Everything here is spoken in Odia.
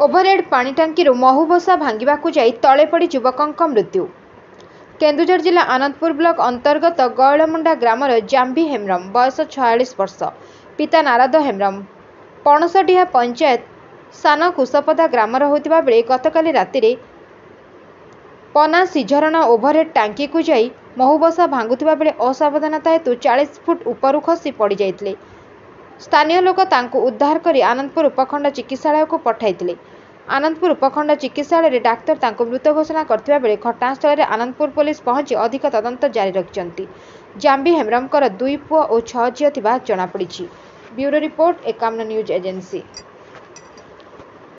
ଓଭରହେଡ୍ ପାଣି ଟାଙ୍କିରୁ ମହୁବସା ଭାଙ୍ଗିବାକୁ ଯାଇ ତଳେ ପଡ଼ି ଯୁବକଙ୍କ ମୃତ୍ୟୁ। କେନ୍ଦୁଝର ଜିଲ୍ଲା ଆନନ୍ଦପୁର ବ୍ଲକ ଅନ୍ତର୍ଗତ ଗୟଳମୁଣ୍ଡା ଗ୍ରାମର ଜାମ୍ଭି ହେମ୍ବ୍ରମ, ବୟସ 46 ବର୍ଷ, ପିତା ନାରଦ ହେମ୍ବ୍ରମ, ପଣସଡିହା ପଞ୍ଚାୟତ ସାନକୁଶପଦା ଗ୍ରାମର ହୋଇଥିବା ବେଳେ ଗତକାଲି ରାତିରେ ପନାସିଝରଣା ଓଭରହେଡ୍ ଟାଙ୍କିକୁ ଯାଇ ମହୁବସା ଭାଙ୍ଗୁଥିବା ବେଳେ ଅସାବଧାନତା ହେତୁ 40 ଫୁଟ ଉପରୁ ଖସି ପଡ଼ିଯାଇଥିଲେ। ସ୍ଥାନୀୟ ଲୋକ ତାଙ୍କୁ ଉଦ୍ଧାର କରି ଆନନ୍ଦପୁର ଉପଖଣ୍ଡ ଚିକିତ୍ସାଳୟକୁ ପଠାଇଥିଲେ। ଆନନ୍ଦପୁର ଉପଖଣ୍ଡ ଚିକିତ୍ସାଳୟରେ ଡାକ୍ତର ତାଙ୍କୁ ମୃତ ଘୋଷଣା କରିଥିବା ବେଳେ ଘଟଣାସ୍ଥଳରେ ଆନନ୍ଦପୁର ପୋଲିସ ପହଞ୍ଚି ଅଧିକ ତଦନ୍ତ ଜାରି ରଖିଛନ୍ତି। ଜାମ୍ବି ହେମ୍ବ୍ରମଙ୍କର 2 ପୁଅ ଓ 6 ଝିଅ ଥିବା ଜଣାପଡ଼ିଛି। Bureau report, Ekamra news agency.